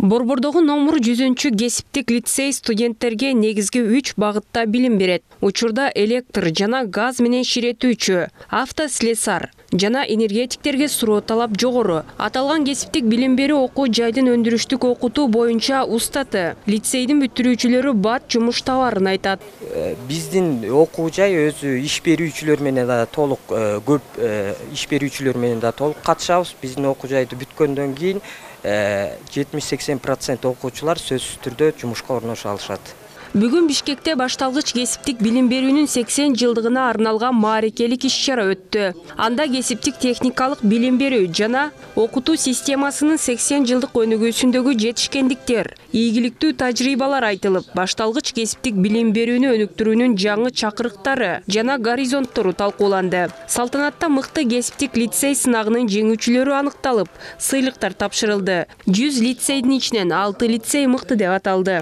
Борбордогу номер 100 кесиптик лицей студенттерге негизги 3 багытта билим берет. Учурда электр жана газ менен ширетүүчү, автослесар жана энергетиктерге суроо талап жогору. Аталган кесиптик билим берүү окуу жайдын өндүрүштүк окутуу боюнча устаты. Лицейдин бүтүрүүчүлөрү бат жумуш табарын айтат. Биздин окуу жай өзү иш берүүчүлөр менен да толук көп иш берүүчүлөр менен да толук катышабыз. Биздин окуу жайды бүткөндөн кийин 70-80% окуучулар сөзсүз түрдө жумушка орношо алышат. Бүгүн Бишкекте башталгыч кесиптик билим берүүнүн 80 жылдыгына арналган маарекелик иш-чара өттү. Анда кесиптик техникалык билим берүү жана окутуу системасынын 80 жылдык өнүгүүсүндөгү жетишкендиктер, ийгиликтүү тажрыйбалар айтылып, башталгыч кесиптик билим берүүнү өнүктүрүүнүн жаңы чакырыктары жана горизонттору талкууланды. Салтанатта мыкты кесиптик лицей сынагынын жеңүүчүлөрү аныкталып, сыйлыктар тапшырылды. 100 лицейдин ичинен 6 лицей мыкты деп аталды.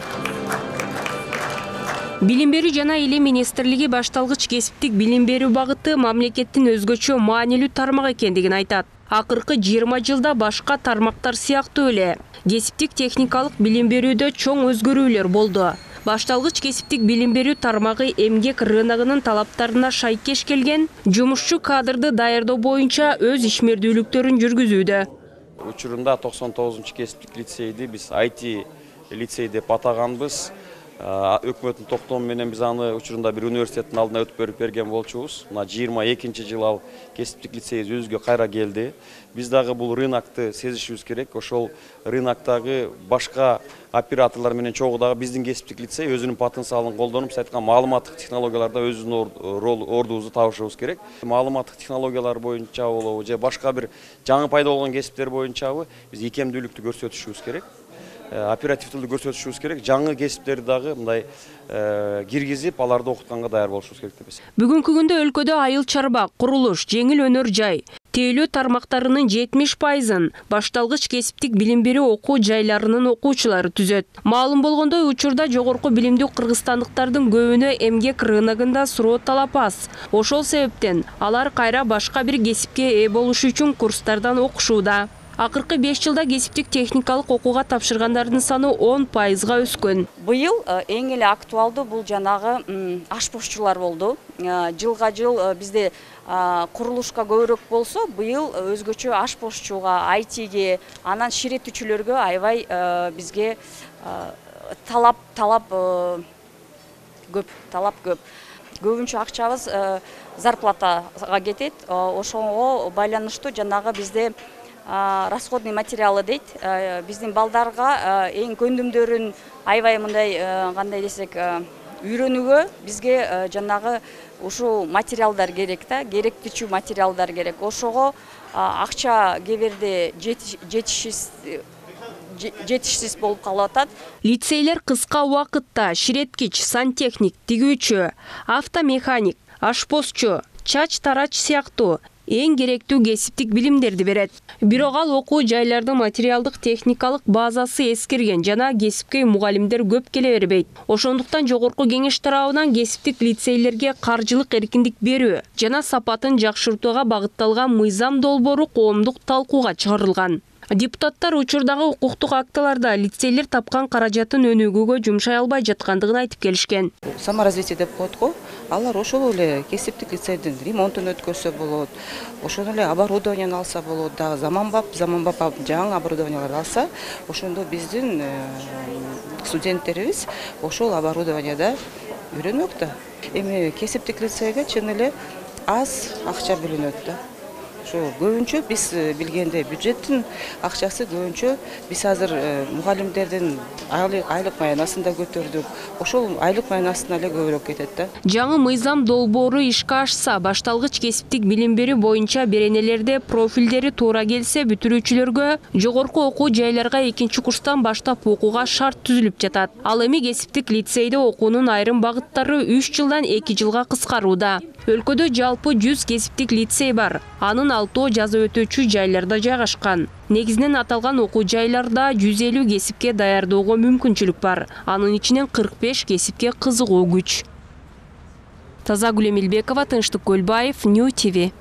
Билим берүү жана илим министрлиги башталгыч кесиптик билим берүү багыты мамлекеттин өзгөчө маанилүү тармак экендигин айтат. Акыркы 20 жылда башка тармактар сыяктуу эле кесиптик техникалык билим берүүдө чоң өзгөрүүлөр болду. Башталгыч кесиптик билим берүү тармагы эмгек рыногунун талаптарына шайкеш келген жумушчу кадрды даярдоо боюнча өз ишмердүүлүктөрүн жүргүзүүдө. Учурунда 99-кесиптик лицейди биз IT лицей деп атаганбыз. Өкмөттүн токтому менен биз аны учурунда бир университеттин алдына өтүп берген болчубуз. Мына 22-жыл ал кесиптик лицей өзүгө кайра келди. Биз дагы бул рынокты сезишибиз керек. Ошол рыноктогу башка операторлор менен чогуу дагы биздин кесиптик лицей өзүнүн потенциалын колдонуп, сиз айткан маалыматтык технологияларда өзүнүн ордубузду табышыбыз керек. Маалыматтык технологиялар боюнча болобу же башка бир жаңы пайда болгон кесиптер боюнчабы биз икемдүүлүктү көрсөтүшүбүз керек. Оперативдүүлүктү көрсөтүшүбүз керек. Жаңы кесиптерди дагы мындай киргизип, аларды окутканга даяр болушубуз керек деп эсептейм. Бүгүнкү күндө өлкөдө айыл чарба, курулуш, жеңил өнөр жай, тейлөө тармактарынын 70%-ын башталгыч кесиптик билим берүү окуу жайларынын окуучулары түзөт. Маалым болгондой, учурда жогорку билимдүү кыргызстандыктардын көбүнө эмгек рыногунда суроо талап аз. Ошол себептен алар кайра башка бир кесипке ээ болуш үчүн курстардан окушууда. Акыркы 5 жылда кесиптик техникалык окууга тапшыргандардын саны 10%-га өскөн. Быйыл эң эле актуалдуу бул жанагы ашпозчулар болду. Жылга жыл бизде курулушка көбүрөөк болсо, быйыл өзгөчө ашпозчуга, ITге, анан ширетүүчүлөргө аябай бизге талап көп. Көбүнчө акчабыз зарплатага кетет. Ошого байланыштуу жанагы бизде расходный материалы дейт. Биздин балдарга эң көндүмдөрүн аябай мындай кандай десек үйрөнүүгө бизге жанагы ушул материалдар керек да, керектүүчү материалдар керек. Ошого акча кээ бирде жетишсиз болуп калып атат. Лицейлер кыска убакытта ширеткич, сантехник, тигүүчү, автомеханик, ашпозчу, чач тарач сыяктуу эң керектүү кесиптик билимдерди берет. Бирок ал окуу жайлардын материалдык техникалык базасы эскирген жана кесипке мугалимдер көп келе бербейт. Ошондуктан жогорку кеңеш тарабынан кесиптик лицейлерге каржылык эркиндик берүү жана сапатын жакшыртууга багытталган мыйзам долбоору коомдук талкууга чыгарылган. Депутаттар учурдагы укуктук актыларда лицейлер тапкан каражатын өнүгүүгө жумшай албай жаткандыгын айтып келишкен. Саморазвитие деп коет го. Алар ошол эле кесиптик лицейдин ремонтун өткөрсө болот. Ошол эле оборудованияны алса болот. Дагы заманбап жаңы оборудованияларды алса, ошондо биздин студенттерибиз ошол оборудованияда үйрөнмөк да. Эми кесиптик лицейге чын эле аз акча бөлүнөт да. Көбүнчө биз билгенде бюджеттин акчасы көбүнчө биз азыр мугалимдердин айлык маянасын да көтөрдүк. Ошол айлык маянасына эле көбүрөөк кетет да. Жаңы мыйзам долбоору ишке ашса, башталгыч кесиптик билим берүү боюнча беренелерде профилдери туура келсе, бүтүрүүчүлөргө жогорку окуу жайларга 2-курстан баштап окууга шарт түзүлүп жатат. Ал эми кесиптик лицейде окуунун айрым багыттары 3 жылдан 2 жылга кыскарууда. Өлкөдө жалпы 100 кесиптик лицей бар. Анын 6 жаза өтүүчү жайларда жайгашкан. Негизинен аталган окуу жайларда 150 кесипке даярдоого мүмкүнчүлүк бар. Анын ичинен 45 кесипке кызыгуу күч. Тазагүл Эмилбекова, Тынчтык Көлбаев, Нью ТВ.